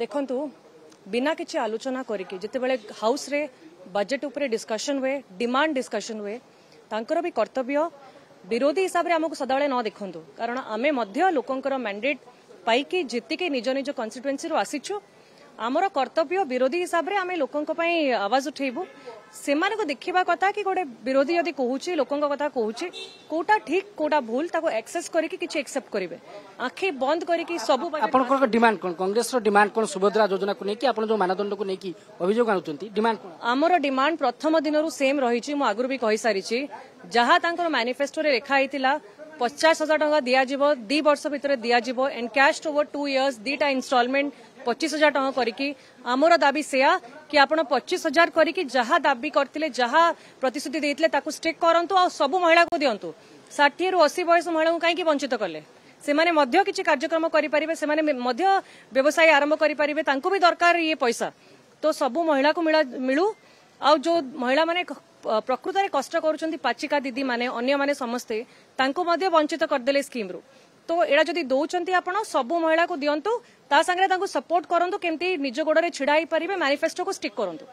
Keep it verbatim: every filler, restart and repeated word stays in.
ଦେଖନ୍ତୁ, ବିନା କିଛି ଆଲୋଚନା କରିକି ଯେତେବେଳେ ହାଉସ୍ରେ ବଜେଟ୍ ଉପରେ ଡିସ୍କସନ୍ ହୁଏ, ଡିମାଣ୍ଡ ଡିସ୍କସନ୍ ହୁଏ, ତାଙ୍କର ବି କର୍ତ୍ତବ୍ୟ ବିରୋଧୀ ହିସାବରେ ଆମକୁ ସଦାବେଳେ ନ ଦେଖନ୍ତୁ, କାରଣ ଆମେ ମଧ୍ୟ ଲୋକଙ୍କର ମ୍ୟାଣ୍ଡେଟ୍ ପାଇକି ଜିତିକି ନିଜ ନିଜ କନଷ୍ଟିଟ୍ୟୁଏନ୍ସିରୁ ଆସିଛୁ। ଆମର କର୍ତ୍ତବ୍ୟ ବିରୋଧୀ ହିସାବରେ ଆମେ ଲୋକଙ୍କ ପାଇଁ ଆୱାଜ ଉଠେଇବୁ। ସେମାନଙ୍କୁ ଦେଖିବା କଥା କି ଗୋଟେ ବିରୋଧୀ ଯଦି କହୁଛି, ଲୋକଙ୍କ କଥା କହୁଛି, କୋଉଟା ଠିକ କୋଉଟା ଭୁଲ ତାକୁ ଆକ୍ସେସ୍ କରିକି କିଛି ଏକ୍ସେପ୍ଟ କରିବେ। ଆଖି ବନ୍ଦ କରିକି ସବୁ ଆପଣଙ୍କର ଡିମାଣ୍ଡ କଣ? କଂଗ୍ରେସର ଡିମାଣ୍ଡ କଣ ସୁଭଦ୍ରା ଯୋଜନାକୁ ନେଇକି? ଆପଣ ଯୋଉ ମାନଦଣ୍ଡକୁ ନେଇକି ଅଭିଯୋଗ ଆଣୁଛନ୍ତି, ଡିମାଣ୍ଡ କଣ? ଆମର ଡିମାଣ୍ଡ ପ୍ରଥମ ଦିନରୁ ସେମ୍ ରହିଛି। ମୁଁ ଆଗରୁ ବି କହିସାରିଛି, ଯାହା ତାଙ୍କର ମ୍ୟାନିଫେଷ୍ଟୋରେ ଲେଖା ହେଇଥିଲା, ପଚାଶ ହଜାର ଟଙ୍କା ଦିଆଯିବ, ଦି ବର୍ଷ ଭିତରେ ଦିଆଯିବ, ଏନକ୍ୟାସ୍ଡ ଓଭର ଟୁ ଇୟର୍ସ, ଦିଟା ଇନଷ୍ଟଲମେଣ୍ଟ ପଚିଶ ହଜାର ଟଙ୍କା କରିକି। ଆମର ଦାବି ସେୟା କି ଆପଣ ପଚିଶ ହଜାର କରିକି ଯାହା ଦାବି କରିଥିଲେ, ଯାହା ପ୍ରତିଶ୍ରୁତି ଦେଇଥିଲେ, ତାକୁ ଷ୍ଟିକ୍ କରନ୍ତୁ ଆଉ ସବୁ ମହିଳାକୁ ଦିଅନ୍ତୁ। ଷାଠିଏରୁ ଅଶୀ ବୟସ ମହିଳାଙ୍କୁ କାହିଁକି ବଞ୍ଚିତ କଲେ? ସେମାନେ ମଧ୍ୟ କିଛି କାର୍ଯ୍ୟକ୍ରମ କରିପାରିବେ, ସେମାନେ ମଧ୍ୟ ବ୍ୟବସାୟ ଆରମ୍ଭ କରିପାରିବେ, ତାଙ୍କୁ ବି ଦରକାର ଇଏ ପଇସା। ତ ସବୁ ମହିଳାକୁ ମିଳୁ। ଆଉ ଯୋଉ ମହିଳାମାନେ ପ୍ରକୃତରେ କଷ୍ଟ କରୁଛନ୍ତି, ପାଚିକା ଦିଦି ମାନେ, ଅନ୍ୟମାନେ ସମସ୍ତେ, ତାଙ୍କୁ ମଧ୍ୟ ବଞ୍ଚିତ କରିଦେଲେ ସ୍କିମ୍ରୁ। ତ ଏଇଟା ଯଦି ଦଉଛନ୍ତି ଆପଣ ସବୁ ମହିଳାକୁ ଦିଅନ୍ତୁ, ତା ସାଙ୍ଗରେ ତାଙ୍କୁ ସପୋର୍ଟ କରନ୍ତୁ କେମିତି ନିଜ ଗୋଡରେ ଛିଡା ହେଇପାରିବେ, ମ୍ୟାନିଫେଷ୍ଟୋକୁ ଷ୍ଟିକ୍ କରନ୍ତୁ।